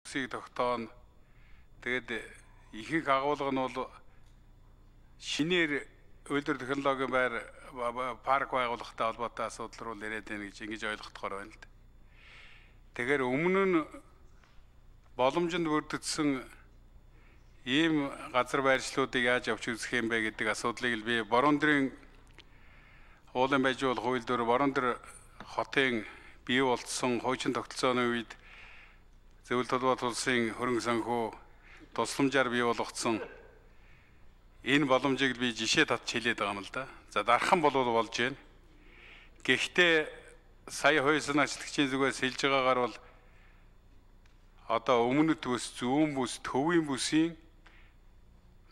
Сийг тогтоон тэгээд ихэнх агуулга нь бол шинээр үйлдвэр технологийн байр парк байгуулахтай холбоотой асуудал руу ирээд байна гэж ингэж ойлгохдохоор байна л да. Тэгэхээр өмнө нь боломжинд бүрдсэн ийм газар байршлуудыг яаж авч үзэх юм бэ гэдэг асуудлыг л би Бороондорын уулын байжуул хууль дээр Борондор хотын бий болцсон хуучин тогтолцооны үед Зөвлөлт толгойд улсын хөрөнгө санхүү тусламжаар бий болгоцсон энэ боломжийг би жишээ татж хэлээд байгаа юм л да. За дархан бол болж байна. Гэхдээ сая хойсон ажлагчийн зүгээс хэлж байгаагаар бол одоо өмнөд бүс, зүүн бүс, төвийн бүсийн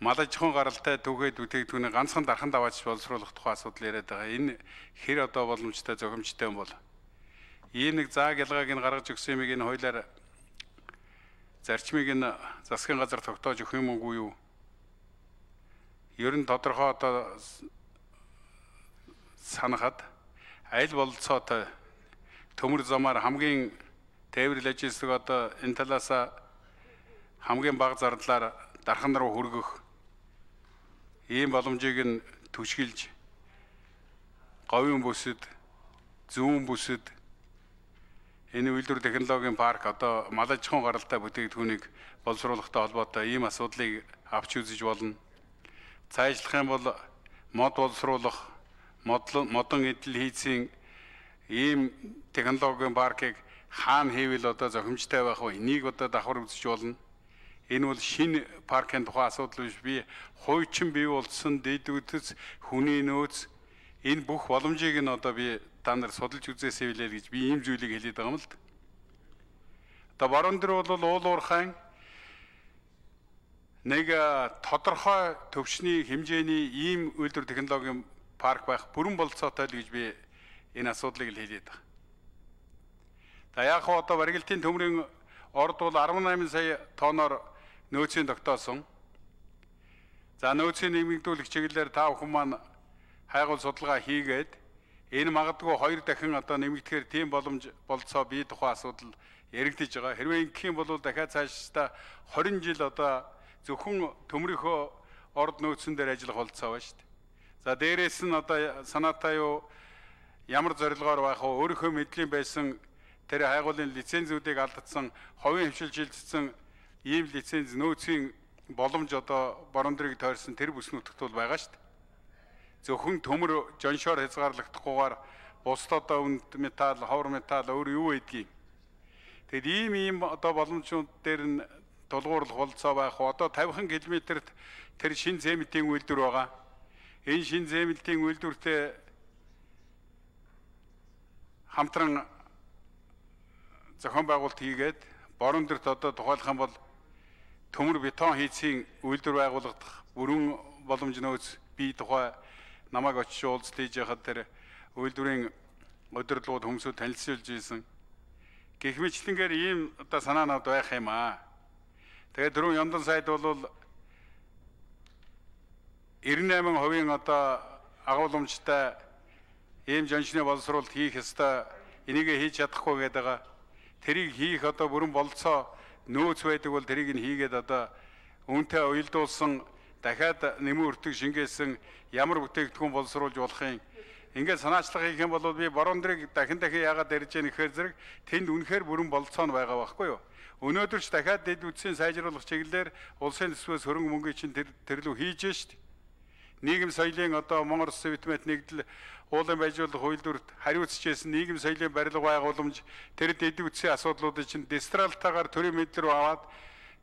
мал аж ахуйн гаралтай түүхэд бүтээгдэхүүний ганцхан дархан даваач боловсруулах тухай асуудал яриад байгаа. Энэ хэр одоо боломжтой зохимжтой юм бол ийм нэг зааг ялгааг нь гаргаж өгсөн юмыг энэ хуулиар зарчмыг нь засгийн газар тогтоож өгөх юм уу юу? Ер нь тодорхой одоо санахад аль болцоотой төмөр замаар хамгийн тээврэл ажилладаг одоо энэ талаас хамгийн бага зардлаар дархан руу хүргэх ийм боломжийг нь түшгэлж говийн бүсэд, зүүн бүсэд энэ үйлдвэр технологийн парк одоо мал аж ахуйн гаралтай бүтээгдэхүүнийг боловсруулахтай холбоотой ийм асуудлыг авч үзэж болно. Цаашлах юм бол мод боловсруулах, модон эдэл хийцийн ийм технологийн паркыг хаана хийвэл одоо зохимжтой байх вэ? Энийг одоо давхар үзэж болно. Энэ бол шинэ паркын тухай асуудал биш. Би хуучин бий болсон дэд үтс, хүний нөөц энэ бүх боломжийг нь одоо би та нар судалж үзээсэй билээ гэж би ийм зүйлийг хэлээд байгаа юм л да. Одоо Бороондор бол уул уурхайн нэг тодорхой төвчний хэмжээний ийм үйлдвэр технологийн парк байх бүрэн болцоотой л гэж би энэ асуудлыг л хэлээд байгаа. За яг хоо одоо барилтын төмрийн орд бол 18 сая тонноор нөөцийн тогтоосон. За нөөцийн нэмэгдүүлэх чиглэлээр та бүхэн маань хайгуул судалгаа хийгээд энэ магадгүй 2 дахин одоо нэмэгдэхээр тийм боломж болцоо бий тухай асуудал яригдж байгаа. Хэрвээ ингэх юм бол дахиад цаашдаа 20 жил одоо зөвхөн төмрийнхөө орд нөөцөн дээр ажиллах болцоо байна шүү дээ. За дээрээс нь одоо санаатай юу ямар зорилгоор байх вэ? Өөрийнхөө мэдлийн байсан тэр хайгуулын лицензүүдийг алдсан, ховын хвшил шилжсэн ийм лиценз нөөцийн боломж одоо Бороондорыг тойрсон тэр бүс нутагт бол байгаа шүү дээ. Зөвхөн төмөр жоншоор хязгаарлагдахгүйгээр бусд одоо үнд металл, ховор металл өөр юу байдгийг. Тэгэд ийм одоо боломжууд дээр нь тулгуурлах болцоо байх. Одоо 50 км-т тэр шин зэмэлтийн үйлдвэр байгаа. Энэ шин зэмэлтийн үйлдвэртэй хамтран зохион байгуулалт хийгээд Бороондорт одоо тухайлах юм бол төмөр бетон хийцийн үйлдвэр байгуулагдах бүрэн боломж нөөц бий тухай намайг очиж уулзалт хийж яхад тэр үйлдвэрийн удирдлагууд хүмүүсд танилцуулж ийсэн. Гэх мэтлэнгээр ийм одоо санаанууд байх юм аа. Тэгээд дөрөв Яндан сайд бол 98% одоо агуулмжтай ийм жончны боловсруулалт хийх ёстой. Энийг хийж чадахгүй гэдэг байгаа. Тэрийг хийх одоо бүрэн болцоо нөөц байдаг бол тэрийг нь хийгээд одоо үнэтэй уялдуулсан дахиад нэмэн өртөг шингээсэн ямар бүтээгдэхүүн боловсруулж болох юм. Ингээд санаачлага хийх юм бол би Бороондорыг дахин яагаад ярьж яах нэхэр зэрэг тэнд үнэхээр бүрэн болцоо нь байгаа байхгүй юу? Өнөөдөр ч дахиад дэд үтсийн сайжруулах чиглэлээр улсын төсвөөс хөрөнгө мөнгөийг чинь тэрлүү хийж шít. Нийгэм соёлын одоо Монгол Улс Совет нэгдэл уулын байжуулах үйлдвэрт хариуцчихсэн нийгэм соёлын барилга байгууламж тэр дэд үтсийн асуудлуудыг чинь дистралтаагаар төрийн мэдэл рүү аваад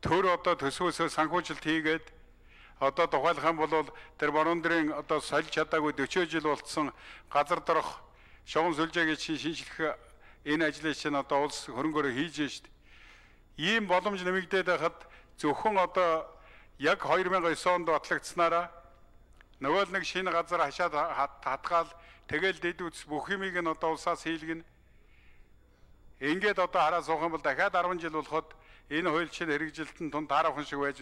төр одоо төсвөөсөө санхүүжилт хийгээд одоо тухайлах юм бол тэр Бороондорын одоо солих чадаагүй 40 жил болцсон газар дорох шогон сүлжээгийн шинжлэх энэ ажлыг чинь одоо улс хөрөнгөөр хийж шít. Ийм боломж нэмэгдээд байхад зөвхөн одоо яг 2009 онд батлагдсанараа нөгөө нэг шинэ газар хашаад хатгаал тэгэл дэд үтс бүх юмыг нь одоо улсаас хийлгэн. Ингээд одоо хараа суух юм бол дахиад 10 жил болоход энэ хууль чинь хэрэгжилтэн тунд таарахын шиг байж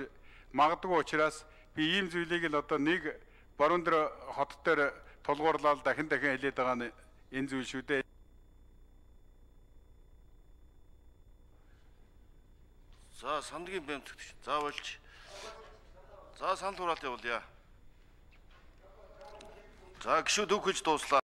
магадгүй учраас би ийм зүйлийг л одоо нэг Бороондор хот дээр тулгуурлал дахин хэлээд байгаа нь энэ зүйл шүү дээ. За сандгийн бэмтгэгч. За болж. За санал хураалт явуулъя. За гişүүд өгөж дууслаа.